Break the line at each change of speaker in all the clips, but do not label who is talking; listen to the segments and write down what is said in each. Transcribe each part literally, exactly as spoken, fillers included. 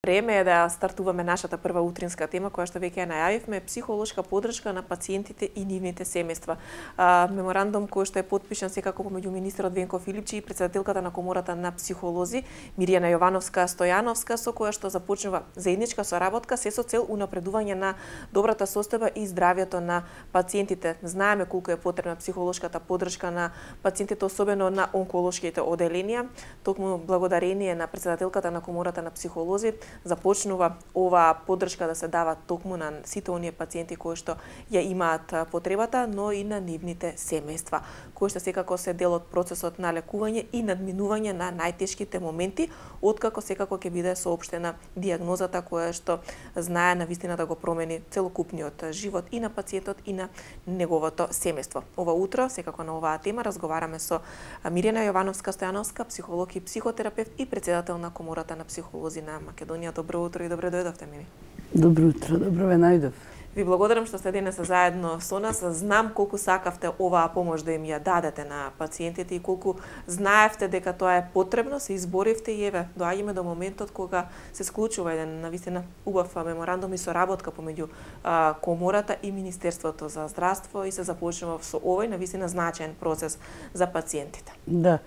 Време е да стартуваме нашата прва утринска тема, која што веќе ја најавивме, психолошка поддршка на пациентите и нивните семејства. Меморандум кој што е потпишан секако помеѓу министерот Венко Филипчи и претседателката на комората на психолози Мирјана Јовановска-Стојановска, со која што започнува заедничка соработка се со цел унапредување на добрата состојба и здравјето на пациентите. Знаеме колку е потребна психолошката поддршка на пациентите, особено на онколошките оделенија. Токму благодарение на претседателката на комората на психолози започнува оваа поддршка да се дава токму на сите оние пациенти кои што ја имаат потребата, но и на нивните семејства, кои што секако се дел од процесот на лекување и надминување на најтешките моменти, откако секако ќе биде соопштена дијагнозата која што знае навистина да го промени целокупниот живот и на пациентот и на неговото семејство. Ова утро, секако на оваа тема, разговараме со Мирјана Јовановска-Стојановска, психолог и психотерапевт и претседател на комората на психолози на Македонија. Добро утро и добре дојдовте, Мири.
Добро утро, добро ве најдов.
Ви благодарам што сте денес заедно со нас. Знам колку сакавте оваа помош да им ја дадете на пациентите и колку знаевте дека тоа е потребно, се изборивте и еве, доаѓаме до моментот кога се склучува еден навистина убав меморандум и соработка помеѓу а, комората и Министерството за здравство и се започнува со овој навистина значаен процес за пациентите.
Да.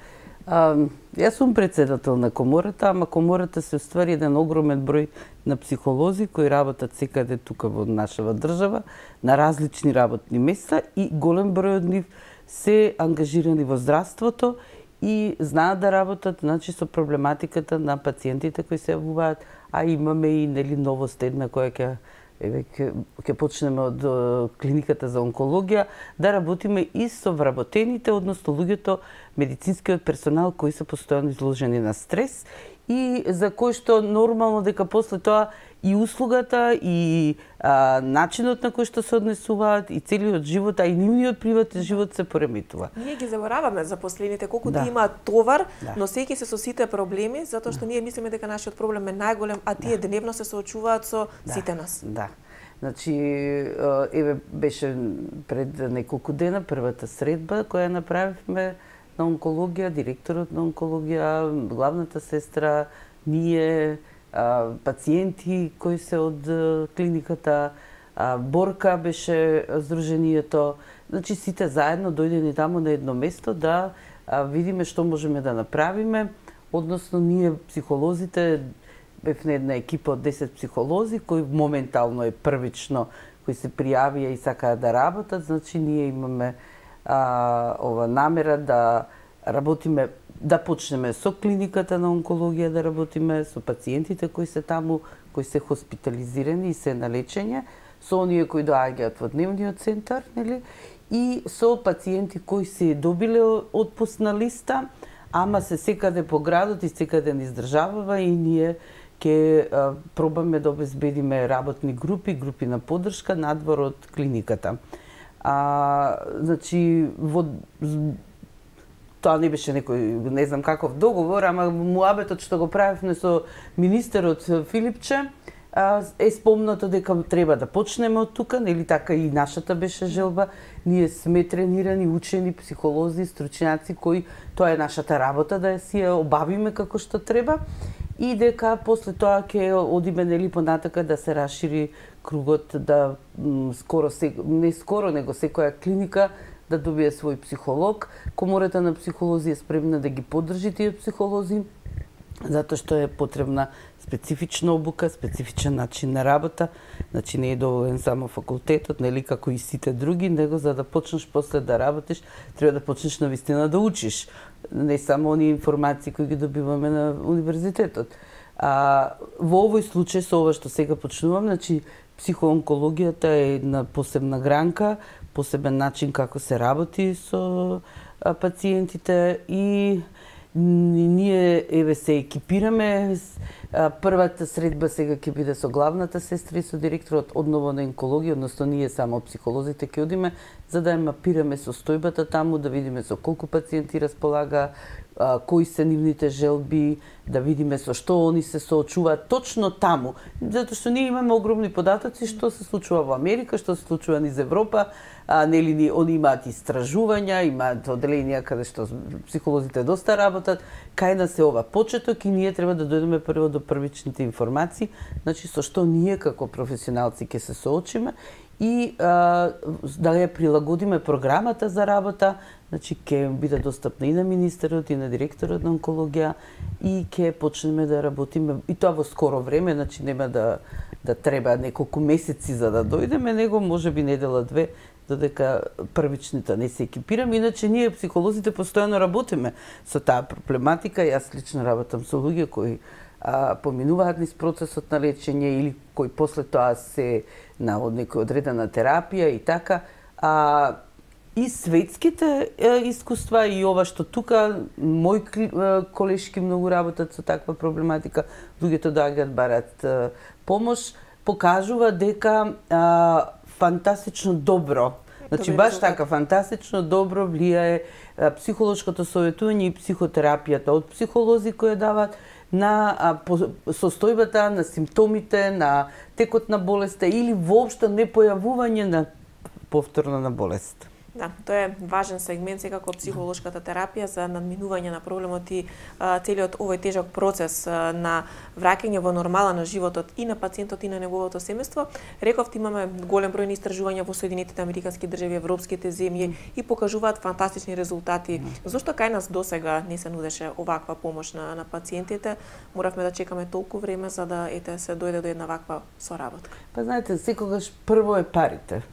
А, јас сум претседател на комората, ама комората се уствари еден огромен број на психолози кои работат секаде тука во нашава држава, на различни работни места и голем број од нив се ангажирани во здравството и знаат да работат, значи, со проблематиката на пациентите кои се јавуваат, а имаме и нели новост една која ќе еве ќе почнеме од клиниката за онкологија, да работиме и со вработените, односно луѓето, медицинскиот персонал кои се постојано изложени на стрес и за кои што нормално дека после тоа и услугата и а, начинот на кој што се однесуваат и целиот живот, а и нивниот приватен живот се пореметува.
Ние ги забораваме запослените колку
да.
Тие имаат товар,
да.
носејќи се со сите проблеми, затоа што ние мислиме дека нашиот проблем е најголем, а тие да. дневно се соочуваат со
да.
сите нас.
Да. Значи, еве беше пред неколку дена првата средба која направивме на онкологија, директорот на онкологија, главната сестра, ние, пациенти кои се од клиниката, Борка беше здруженијето. Значи, сите заедно дојдени таму на едно место да видиме што можеме да направиме, односно ние психолозите бевме една екипа од десет психолози кои моментално е првично кои се пријавија и сакаат да работат, значи ние имаме а, ова намера да работиме, да почнеме со клиниката на онкологија, да работиме со пациентите кои се таму, кои се хоспитализирани и се на лечење, со оние кои доаѓаат во дневниот центар, нели? И со пациенти кои се добиле отпусна листа, ама се секаде по градот и секаде низ државава и ние ќе пробаме да обезбедиме работни групи, групи на поддршка надвор од клиниката. А, значи, во тоа не беше некој, не знам каков договор, ама муабетот што го правевме со министерот Филипче, е спомнато дека треба да почнеме од тука, нели така и нашата беше желба. Ние сме тренирани, учени психолози, стручњаци кои тоа е нашата работа да ја си ја обавиме како што треба и дека после тоа ќе одиме нели понатака да се расшири кругот, да скоро се, не скоро него секоја клиника да добие свој психолог. Комората на психолози е спремна да ги поддржи тие психолози, затоа што е потребна специфична обука, специфичен начин на работа. Значи не е доволен само факултетот, нели како и сите други, него за да почнеш после да работиш, треба да почнеш навистина да учиш. Не само оние информации кои ги добиваме на универзитетот. А, во овој случај со ова што сега почнувам, значи психоонкологијата е една посебна гранка, посебен начин како се работи со а, пациентите и ние еве се екипираме. Првата средба сега ќе биде со главната сестра и со директорот одново на онкологија, односно ние само психолозите ќе одиме за да ја мапираме состојбата таму, да видиме со колку пациенти располага, а, кои се нивните желби, да видиме со што они се соочуваат точно таму. Затоа што ние имаме огромни податоци што се случува во Америка, што се случува низ Европа, а нели они имаат истражувања, имаат оделенија каде што психолозите доста работат, кај нас е ова почеток и ние треба да дојдеме прво до до првичните информации, значи со што ние како професионалци ќе се соочиме и а, да ја прилагодиме програмата за работа, значи ќе биде достапна и на министерот и на директорот на онкологија и ќе почнеме да работиме и тоа во скоро време, значи нема да да треба неколку месеци за да дојдеме, него можеби недела две додека првичните не се екипираме. Иначе ние психолозите постојано работиме со таа проблематика. Јас лично работам со луѓе кои а, поминуваат низ процесот на лечење или кои после тоа се на некоја одредена терапија и така. А, и светските е, искуства и ова што тука мои колешки многу работат со таква проблематика, луѓето доаѓаат барат е, помош, покажува дека а, фантастично добро, значи баш така фантастично добро влијае а, психолошкото советување и психотерапијата од психолози кои даваат на а, по, состојбата, на симптомите, на текот на болеста или воопшто непојавување на повторно на болест.
Да, тоа е важен сегмент секако психолошката терапија за надминување на проблемот и а, целиот овој тежок процес а, на враќање во нормала на животот и на пациентот и на неговото семејство. Рековте, имаме голем број на истражувања во Соединетите Американски држави, европските земји и покажуваат фантастични резултати. Зошто кај нас досега не се нудеше оваква помош на, на пациентите? Моравме да чекаме толку време за да ете се дојде до една ваква соработка.
Па знаете, секогаш прво е парите.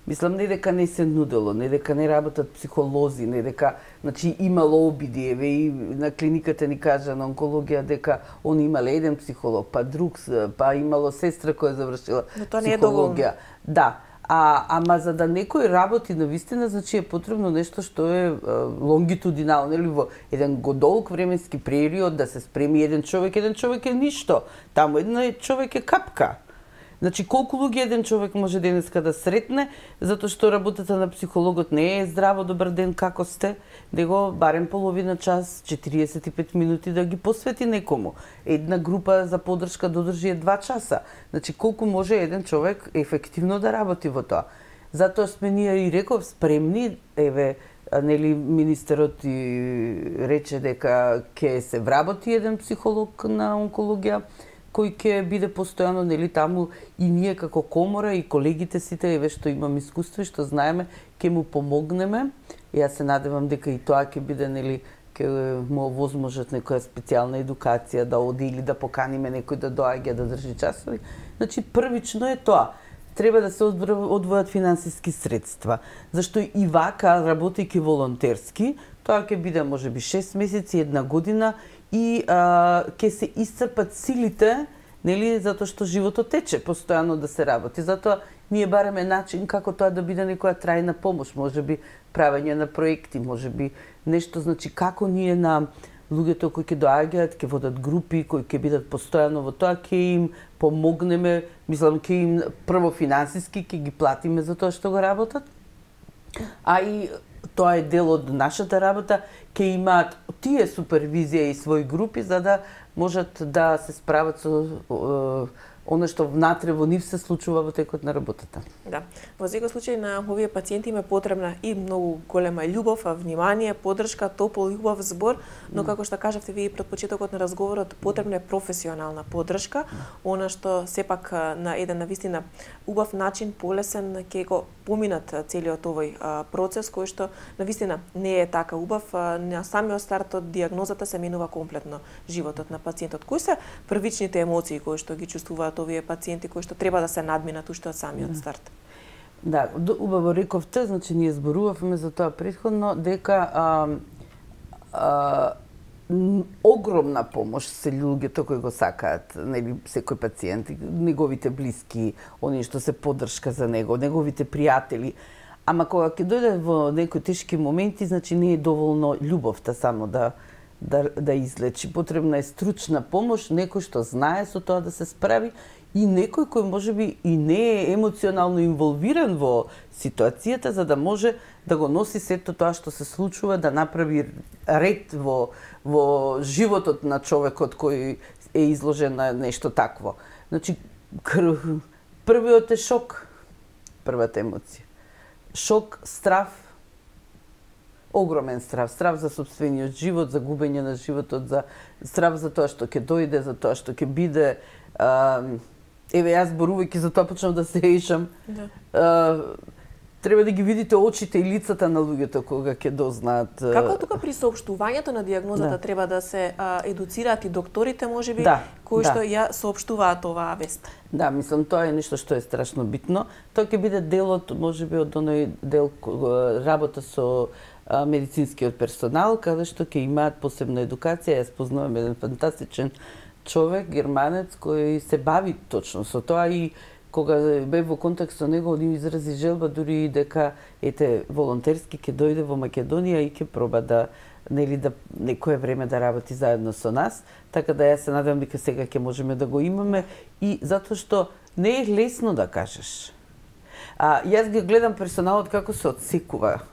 Мислам, не дека не се нудело, не дека не работат психолози, не дека, значи, имало обиди, еве и на клиниката ни кажа на онкологија дека он имале еден психолог, па друг, па имало сестра која завршила
но тоа не е доволно.
Да, а ама за да некој работи навистина, значи е потребно нешто што е лонгитудинално, или во еден годолг временски период да се спреми еден човек, еден човек е ништо, таму еден човек е капка. Значи, колку луѓе еден човек може денеска да сретне, затоа што работата на психологот не е здраво, добар ден, како сте, него барем половина час, четириесет и пет минути да ги посвети некому. Една група за поддршка додржи е два часа. Значи, колку може еден човек ефективно да работи во тоа. Затоа сме ние и реков спремни, еве, нели министерот и рече дека ќе се вработи еден психолог на онкологија, кој ќе биде постојано, нели, таму и ние како комора и колегите сите, еве што имам искуство и што знаеме, ќе му помогнеме. И јас се надевам дека и тоа ќе биде, нели, ќе му овозможат некоја специјална едукација да оди или да поканиме некој да доаѓа да држи часови. Значи првично е тоа. Треба да се одвојат финансиски средства, зашто и вака работејќи волонтерски, тоа ќе биде можеби шест месеци, една година и а, ќе се исцрпат силите, нели, затоа што животот тече постојано да се работи. Затоа ние бараме начин како тоа да биде некоја трајна помош, можеби правење на проекти, можеби нешто, значи како ние на луѓето кои ќе доаѓаат, ќе водат групи, кои ќе бидат постојано во тоа, ќе им помогнеме, мислам, ќе им прво финансиски ќе ги платиме за тоа што го работат, а и тоа е дел од нашата работа, ќе имаат тие супервизија и своји групи за да можат да се справат со е, оно што внатре во нив се случува во текот на работата.
Да. Во секој случај на овие пациенти им е потребна и многу голема љубов, внимание, поддршка, топол и убав збор, но како што кажавте вие пред почетокот на разговорот, потребна е професионална поддршка, она што сепак на еден навистина убав начин, полесен ќе го поминат целиот овој а, процес кој што навистина не е така убав. А, на самиот старт од дијагнозата се менува комплетно животот на пациентот. Кои се првичните емоции кои што ги чувствуваат овие пациенти кои што треба да се надминат уште од самиот старт?
Да, убаво рековте, значи ние зборувавме за тоа претходно дека а, а, огромна помош се луѓето кои го сакаат, нели, секој пациент, неговите блиски, они што се поддршка за него, неговите пријатели. Ама кога ќе дојде во некои тешки моменти, значи не е доволно љубовта само да да да излечи. Потребна е стручна помош, некој што знае со тоа да се справи и некој кој можеби и не е емоционално инволвиран во ситуацијата за да може да го носи сето тоа што се случува, да направи ред во во животот на човекот кој е изложен на нешто такво. Значи, првиот е шок, првата емоција. Шок, страв, огромен страв, страв за сопствениот живот, за губење на животот, за страв за тоа што ќе дојде, за тоа што ќе биде. А, еве јас зборувајќи за тоа почнав да се ешам. Да. А, треба да ги видите очите и лицата на луѓето кога ќе дознаат.
Како тука при соопштувањето на дијагнозата да. треба да се а, едуцираат и докторите, можеби,
да,
кои
да.
што ја соопштуваат оваа вест?
Да, мислам, тоа е нешто што е страшно битно. Тоа ќе биде дел од, можеби, од оној дел работа со а, медицинскиот персонал, каде што ќе имаат посебна едукација. Јас познавам еден фантастичен човек, германец, кој се бави точно со тоа и кога бев во контакт со него, он изрази желба дури и дека ете волонтерски ќе дојде во Македонија и ќе проба да нели да некое време да работи заедно со нас, така да јас се надевам дека сега ќе можеме да го имаме и затоа што не е лесно да кажеш. А јас ги гледам персоналот како се отсекува,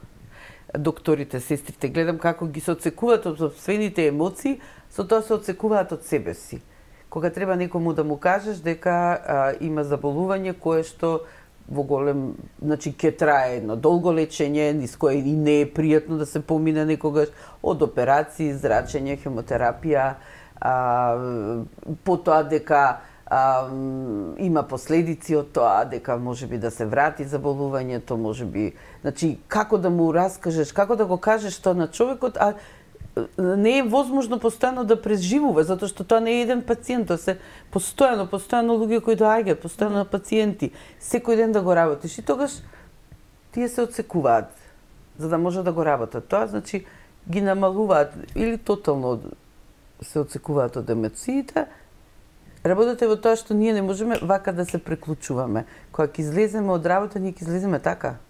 докторите, сестрите, гледам како ги се отсекуваат од сопствените емоции, со тоа се отсекуваат од себе си. Кога треба некому да му кажеш дека а, има заболување кое што во голем, значи ќе трае едно долго лечење, низ кое и не е пријатно да се помине некогаш, од операции, зрачење, хемотерапија, а, потоа дека а, има последици од тоа, дека можеби да се врати заболувањето, можеби, значи како да му раскажеш, како да го кажеш тоа на човекот, а не е возможно постојано да преживува, затоа што тоа не е еден пациент, тоа се постојано, постојано луѓе кои доаѓаат, постојано пациенти, секој ден да го работиш и тогаш тие се отсекуваат за да може да го работат. Тоа значи ги намалуваат или тотално се отсекуваат од емоциите. Работата е во тоа што ние не можеме вака да се преклучуваме. Кога ќе излеземе од работа, ние ќе излеземе така,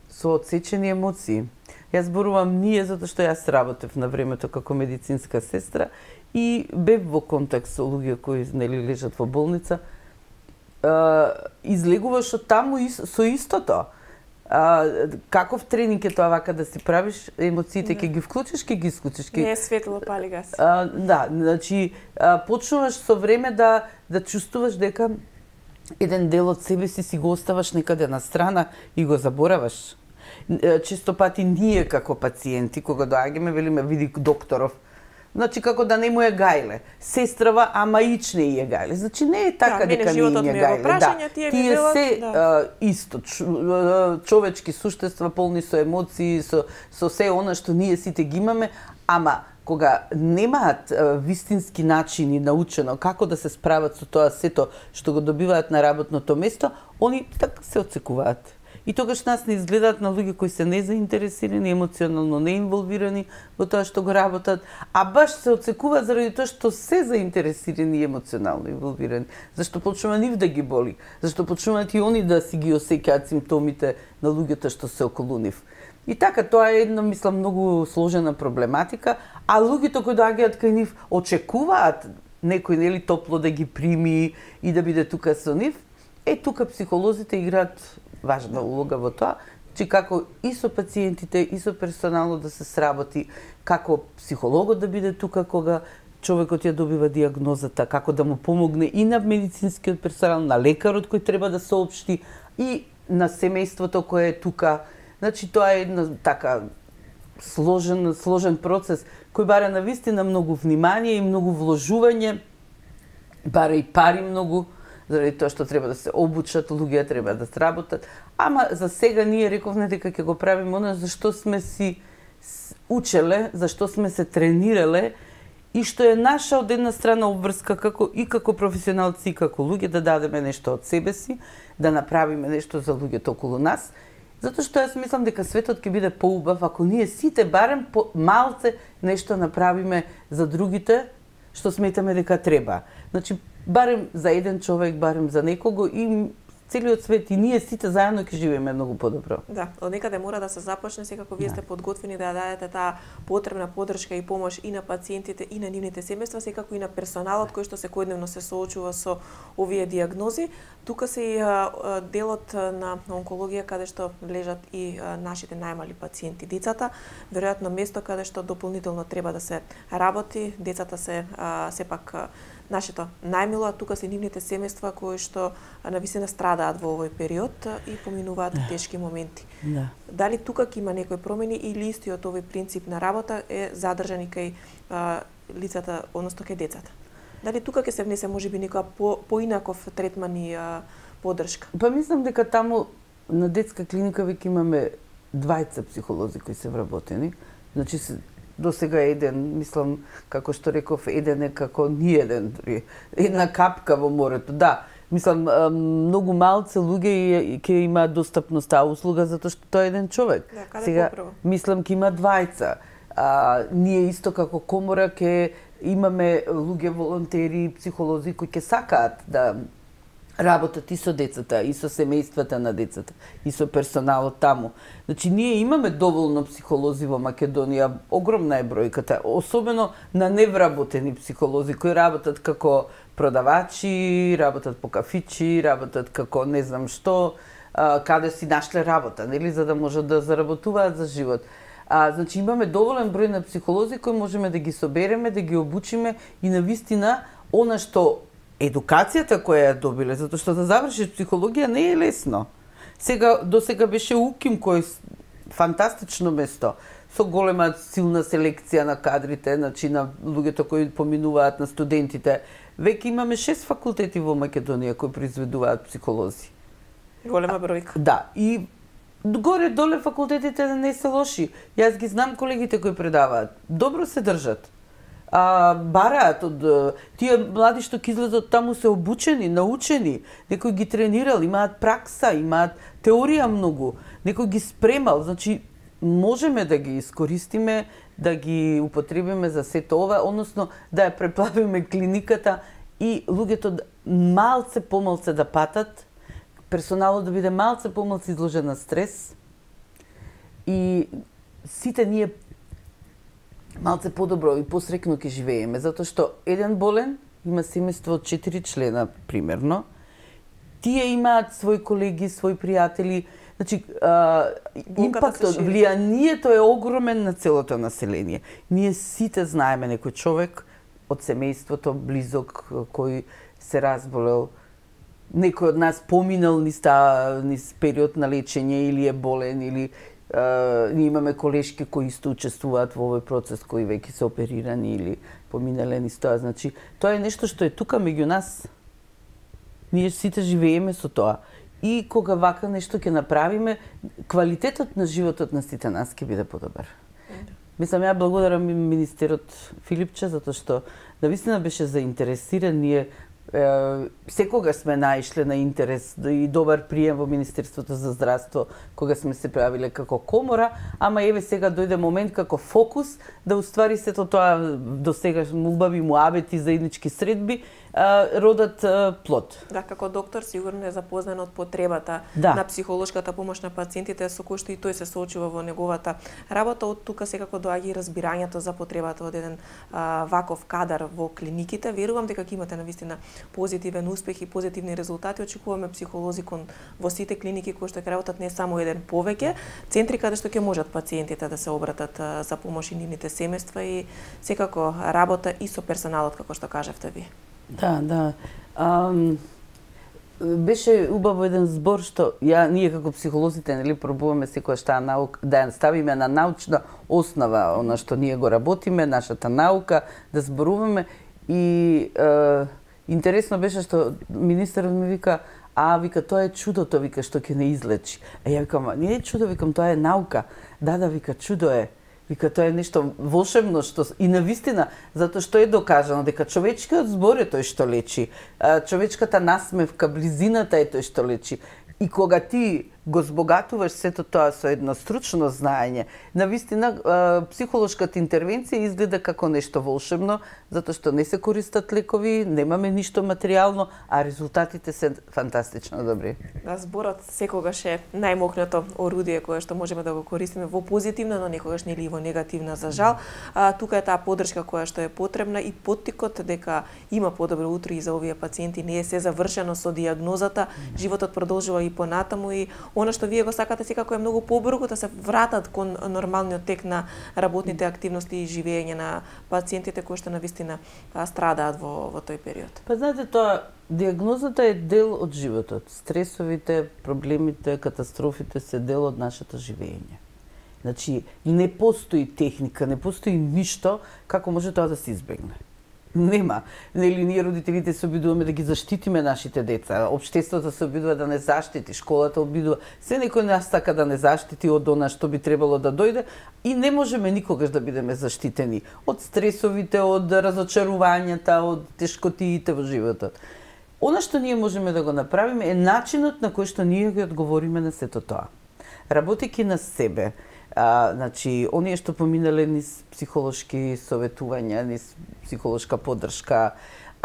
со отсечени емоции. Јас зборувам ние затоа што јас работев на времето како медицинска сестра и бев во контакт со луѓе кои нели лежат во болница. А, излегуваш од таму и со истото. А, каков тренинг е тоа вака да си правиш, емоциите ќе ги вклучиш, ќе ги исклучиш.
Не е светло, пали газ.
А, да, значи а, почнуваш со време да да чувствуваш дека еден дел од себе си си го оставаш некаде на страна и го забораваш. Често пати ние како пациенти, кога доаѓаме, велиме, види докторов, значи како да не му е гајле. Сестрава, ама ич не е гајле. Значи не е така
да,
дека не е гајле.
Да, тие,
тие
велат,
се
да.
а, исто, човечки суштества полни со емоции, со, со се она што ние сите ги имаме, ама кога немаат а, вистински начини научено како да се справат со тоа сето што го добиваат на работното место, они така се отсекуваат. И тогаш нас не изгледаат на луѓе кои се незаинтересирани, емоционално неинволвирани во тоа што го работат, а баш се отсекуваат заради тоа што се заинтересирани и емоционално инволвирани. Зашто почнува нив да ги боли, зашто почнуваат и они да си ги осеќаат симптомите на луѓето што се околу нив. И така, тоа е една, мислам, многу сложена проблематика, а луѓето кои доаѓаат кај нив очекуваат некој нели топло да ги прими и да биде тука со нив. Е, тука психолозите играат важна улога во тоа, че како и со пациентите, и со персоналот да се сработи, како психологот да биде тука кога човекот ја добива дијагнозата, како да му помогне и на медицинскиот персонал, на лекарот кој треба да соопшти и на семејството кое е тука. Значи тоа е една така сложен сложен процес кој бара навистина многу внимание и многу вложување, бара и пари многу, заради тоа што треба да се обучат, луѓе треба да сработат. Ама за сега ние рековме дека ќе го правиме она за што сме си учеле, за што сме се тренирале и што е наша од една страна обврска како и како професионалци и како луѓе да дадеме нешто од себе си, да направиме нешто за луѓето околу нас. Затоа што јас мислам дека светот ќе биде поубав ако ние сите барем по малце нешто направиме за другите што сметаме дека треба. Значи барем за еден човек, барем за некого и целиот свет и ние сите заедно ќе живееме многу подобро.
Да, од некаде мора да се започне, секако вие сте подготвени да дадете таа потребна поддршка и помош и на пациентите и на нивните семејства, секако и на персоналот кој што секојдневно се соочува со овие дијагнози. Тука се и а, делот на онкологија каде што лежат и а, нашите најмали пациенти, децата, веројатно место каде што дополнително треба да се работи. Децата се а, сепак а, нашето најмило, а тука се нивните семејства кои што навистина страдаат во овој период и поминуваат да. тешки моменти.
Да.
Дали тука ќе има некои промени или истиот овој принцип на работа е задржан и кај а, лицата, односно кај децата? Дали тука ќе се внесе можеби некоја по, поинаков третман и а, поддршка?
Па мислам дека таму на детска клиника веќе имаме двајца психолози кои се вработени. Значи до сега еден, мислам, како што реков, еден е како ни еден, една капка во морето. Да, мислам, многу малце луѓе ќе имаат достапност таа услуга затоа што тоа е еден човек.
Да, каде
сега
поправо?
Мислам ќе има двајца. А, ние исто како комора ќе имаме луѓе волонтери, психолози кои ќе сакаат да работат и со децата, и со семејствата на децата, и со персоналот таму. Значи, ние имаме доволно психолози во Македонија, огромна е бројката, особено на невработени психолози кои работат како продавачи, работат по кафичи, работат како не знам што, каде си нашле работа, нели, за да можат да заработуваат за живот. А, значи, имаме доволен број на психолози кои можеме да ги собереме, да ги обучиме и навистина она што едукацијата која ја добиле, затоа што да завршиш психологија не е лесно. Сега, до сега беше УКИМ кој фантастично место, со голема силна селекција на кадрите, значи на луѓето кои поминуваат, на студентите. Веќе имаме шест факултети во Македонија кои произведуваат психолози.
Голема бројка.
Да, и горе-доле факултетите не се лоши. Јас ги знам колегите кои предаваат. Добро се држат. А, бараат од тие млади што ќе излезат таму се обучени, научени, некој ги тренирал, имаат пракса, имаат теорија многу, некој ги спремал, значи можеме да ги искористиме, да ги употребиме за сето ова, односно да ја преплавиме клиниката и луѓето малце помалце да патат, персоналот да биде малце помалце изложен на стрес и сите ние малце подобро и посрекно ќе живееме, затоа што еден болен има семејство од четири члена, примерно. Тие имаат своји колеги, своји пријатели. Значи, а, импактот, влијанието е огромен на целото население. Ние сите знаеме некој човек од семејството, близок, кој се разболел. Некој од нас поминал низ таа низ период на лечење или е болен, или Uh, ние имаме колешки кои исто учествуваат во овој процес, кои веќе се оперирани или поминале низ тоа. Значи, тоа е нешто што е тука меѓу нас. Ние сите живееме со тоа. И кога вака нешто ќе направиме, квалитетот на животот на сите нас ќе биде подобар. Mm. Мислам, ја благодарам министерот Филипче, затоа што навистина беше заинтересиран. Ние секогаш сме наишле на интерес и добар прием во Министерството за здравство кога сме се правиле како комора, ама еве сега дојде момент како фокус да уствари сето тоа до сега убави муабети, заеднички средби родат плод.
Да, како доктор сигурно е запознан од потребата
да.
на психолошката помош на пациентите со кој што и тој се соочува во неговата работа. Од тука секако доаѓа и разбирањето за потребата од еден а, ваков кадар во клиниките. Верувам дека ќе имате навистина позитивен успех и позитивни резултати. Очекуваме психолози кон во сите клиники кои што ќе работат не само еден повеќе, центри каде што ќе можат пациентите да се обратат а, за помош и нивните семејства и секако работа и со персоналот како што кажавте ви.
Да, да. Ам, беше убаво еден збор што ја ние како психолозите нели пробуваме секојаш таа наука да ја ставиме на научна основа, она што ние го работиме, нашата наука, да зборуваме и е, интересно беше што министерот ми вика, а вика тоа е чудото, вика што ќе не излечи. А ја викам, не е чудо, викам тоа е наука. Да, да, вика чудо е. Вика, тоа е нешто волшебно, што и навистина, затоа што е докажано дека човечкиот збор е тој што лечи, човечката насмевка, близината е тој што лечи. И кога ти го збогатуваш сето тоа со едно стручно знаење. Навистина, психолошката интервенција изгледа како нешто волшебно, затоа што не се користат лекови, немаме ништо материјално, а резултатите се фантастично добри.
Да, зборот секогаш е најмокното орудие кое што можеме да го користиме во позитивна, но некогаш нели и во негативна за жал. А, тука е таа поддршка која што е потребна и поттикот дека има подобро утро и за овие пациенти, не е се завршено со дијагнозата, животот продолжува и понатаму и она што вие го сакате секако е многу побрзо да се вратат кон нормалниот тек на работните активности и живење на пациентите кои што навистина страдаат во во тој период.
Па знаете, тоа дијагнозата е дел од животот. Стресовите, проблемите, катастрофите се дел од нашето живење. Значи, не постои техника, не постои ништо како може тоа да се избегне. Нема. Нели ние родителите се обидуваме да ги заштитиме нашите деца, општеството се обидува да не заштити, школата обидува, се некој нас сака да не заштити од она што би требало да дојде и не можеме никогаш да бидеме заштитени од стресовите, од разочарувањата, од тешкотиите во животот. Она што ние можеме да го направиме е начинот на кој што ние ги одговориме на сето тоа. Работејќи на себе, А, значи, оние што поминале низ психолошки советувања, низ психолошка поддршка,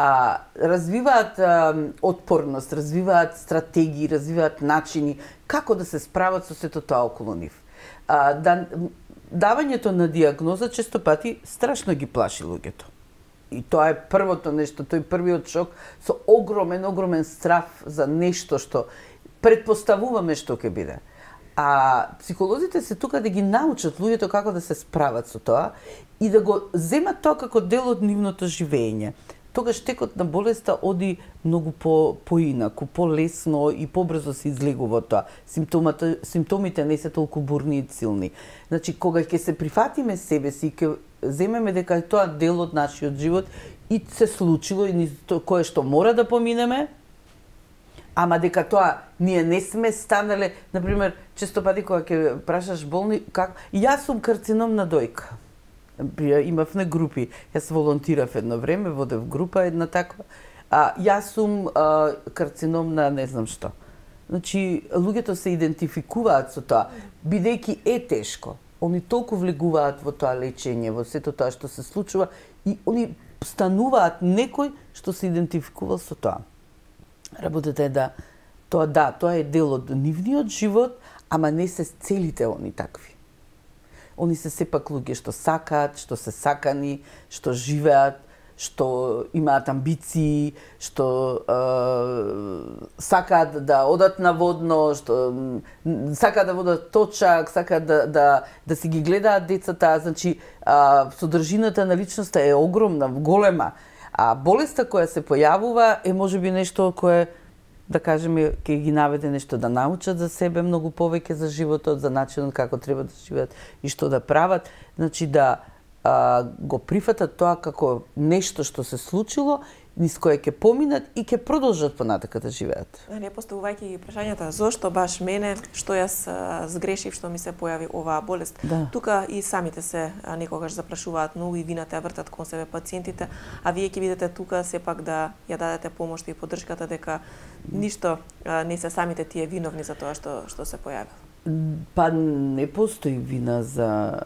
а, развиваат а, отпорност, развиваат стратегии, развиваат начини како да се справат со сето тоа околу нив. А, да, давањето на дијагноза често пати страшно ги плаши луѓето. И тоа е првото нешто, тој првиот шок со огромен, огромен страф за нешто што предпоставуваме што ќе биде. А психолозите се тука да ги научат луѓето како да се справат со тоа и да го земат тоа како дел од нивното живење. Тогаш текот на болеста оди многу по поинаку, полесно и побрзо се излегува тоа. Симптомата, симптомите не се толку бурни и силни. Значи, кога ќе се прифатиме себе си, ќе земеме дека е тоа дел од нашиот живот и се случило и кое што мора да поминеме, ама дека тоа ние не сме станале, например, често пати кога ќе прашаш болни, как јас сум карцином на дојка. Имавме групи, јас волонтирав едно време, водев група една таква, а јас сум а, карцином на не знам што. Значи, луѓето се идентификуваат со тоа, бидејќи е тешко. Они толку влегуваат во тоа лечење, во сето тоа што се случува и они стануваат некој што се идентификувал со тоа. Работата е да тоа да, тоа е дел од нивниот живот, ама не се целите они такви. Они се сепак луѓе што сакаат, што се сакани, што живеат, што имаат амбиции, што е, сакаат да одат на водно, што сакаат да водат точак, сакаат да да да си ги гледаат децата, значи а, содржината на личноста е огромна, голема. А болеста која се појавува е можеби нешто кое, да кажеме, ќе ги наведе нешто да научат за себе многу повеќе за животот, за начинот како треба да живеат и што да прават. Значи да а, го прифатат тоа како нешто што се случило, низ кое ќе поминат и ќе продолжат понатака да живеат.
Не поставувајќи ги прашањата зошто баш мене, што јас а, сгрешив, што ми се појави оваа болест.
Да.
Тука и самите се а, некогаш запрашуваат многу и вината ја вртат кон себе пациентите, а вие ќе видите тука сепак да ја дадете помош и поддршката дека ништо а, не се самите тие виновни за тоа што што се појавило.
Па не постои вина за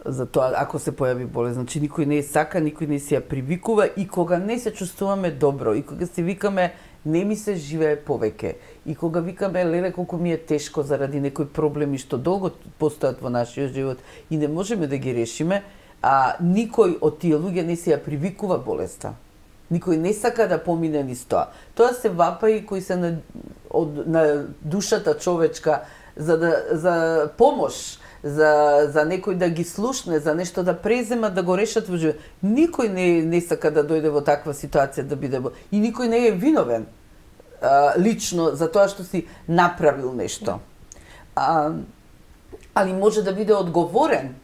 за тоа ако се појави болест. Значи никој не е сака, никој не се ја привикува и кога не се чувствуваме добро и кога се викаме не ми се живее повеќе и кога викаме леле колку ми е тешко заради некои проблеми што долго постојат во нашиот живот и не можеме да ги решиме, а никој од тие луѓе не се ја привикува болеста. Никој не сака да помине низ тоа. Тоа се вапаи кои се на, од, на душата човечка за да за помош, за за некој да ги слушне, за нешто да преземат, да го решат во живот. Никој не не сака да дојде во таква ситуација да биде и никој не е виновен а, лично за тоа што си направил нешто. А, али може да биде одговорен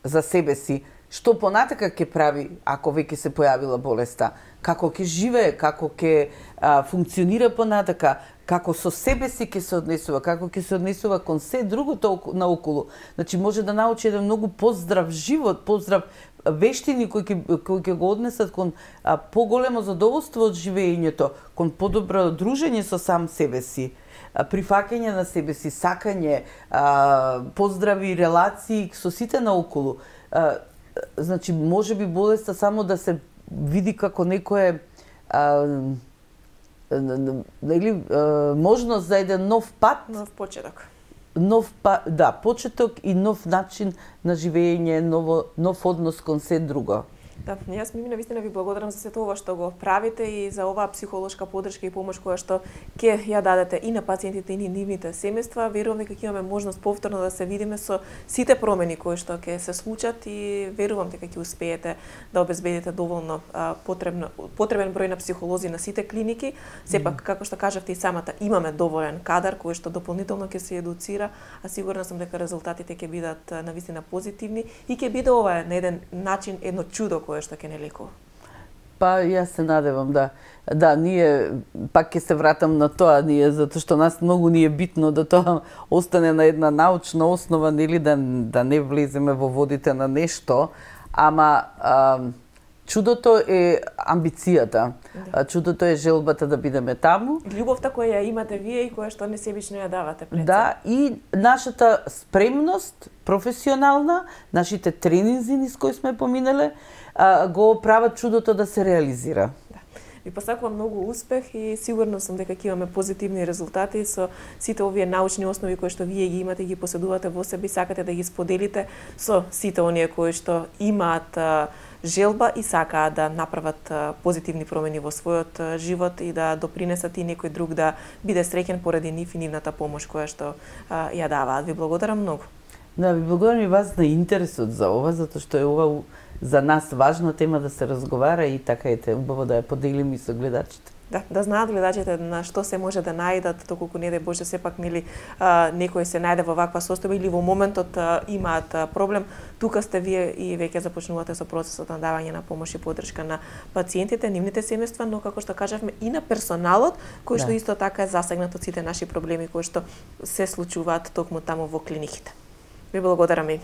за себе си што понатака ќе прави ако веќе се појавила болеста, како ќе живее, како ќе а, функционира понатака, како со себе си ќе се однесува, како ќе се однесува кон се другото наоколу. Значи може да научи еден многу поздрав живот, поздрав вештини кои ќе кои ќе го однесат кон а, поголемо задоволство од живеењето, кон подобро дружење со сам себе си. прифаќање на себе си, сакање, поздрави, релации со сите наоколу. Значи, може би болеста само да се види како некое или можност за еден нов пат,
нов почеток.
Нов па, да, почеток и нов начин на живење, ново, нов однос кон се друго.
Да, јас ми навистина ви благодарам за сето ова што го правите и за оваа психолошка поддршка и помош која што ќе ја дадете и на пациентите и на нивните семејства. Верувам дека ќе имаме можност повторно да се видиме со сите промени кои што ќе се случат и верувам дека ќе успеете да обезбедите доволно а, потребно потребен број на психолози на сите клиники. Сепак, како што кажавте и самата, имаме доволен кадар кој што дополнително ќе се едуцира, а сигурна сум дека резултатите ќе бидат навистина позитивни и ќе биде ова на еден начин едно чудо кое што ќе не лекува.
Па јас се надевам, да. Да, ние пак ќе се вратам на тоа, ние затоа што нас многу ни е битно да тоа остане на една научна основа, нели, да да не влеземе во водите на нешто, ама а, чудото е амбицијата. Да. Чудото е желбата да бидеме таму.
Љубовта која ја имате вие и која што несебично ја давате пред.
Да, и нашата спремност професионална, нашите тренинзи низ кои сме поминале, го прават чудото да се реализира.
Да. Ви посакувам многу успех и сигурно сум дека ќе имаме позитивни резултати со сите овие научни основи кои што вие ги имате и ги поседувате во себе и сакате да ги споделите со сите оние кои што имаат желба и сакаат да направат позитивни промени во својот живот и да допринесат и некој друг да биде среќен поради нив и нивната помош која што ја даваат. Ви благодарам многу.
Да, ви благодарам и вас на интересот за ова, затоа што е ова за нас важна тема да се разговара и така ете, убаво да ја поделиме и со гледачите.
Да, да знаат гледачите на што се може да најдат, доколку не дај Боже сепак нели а, некој се најде во ваква состојба или во моментот а, имаат а, проблем, тука сте вие и веќе започнувате со процесот на давање на помош и поддршка на пациентите, нивните семејства, но како што кажавме и на персоналот, кој што да. Исто така е засегнат од сите наши проблеми кои што се случуваат токму таму во клиниките. Ви благодарам и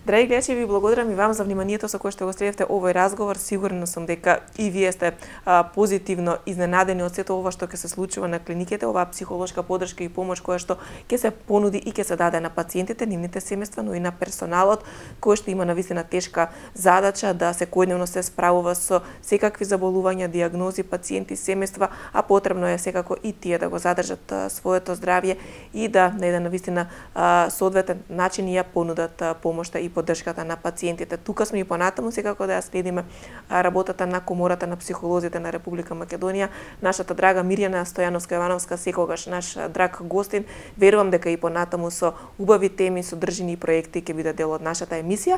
Драги гледачи, ви благодарам и вам за вниманието со кое што го следевте овој разговор. Сигурна сум дека и вие сте а, позитивно изненадени од сето ова што ќе се случува на клиниките, оваа психолошка поддршка и помош која што ќе се понуди и ќе се даде на пациентите, нивните семејства, но и на персоналот кој што има навистина тешка задача да секојдневно се справува со секакви заболувања, дијагнози, пациенти, семејства, а потребно е секако и тие да го задржат а, своето здравје и да на еден навистина а, соодветен начин ја понудат а, помошта и поддршката на пациентите. Тука сме и понатаму секако да ја следиме работата на Комората на психолозите на Република Македонија. Нашата драга Мирјана Стојановска-Јовановска секогаш наш драг гостин. Верувам дека и понатаму со убави теми, содржини и проекти ќе биде дел од нашата емисија.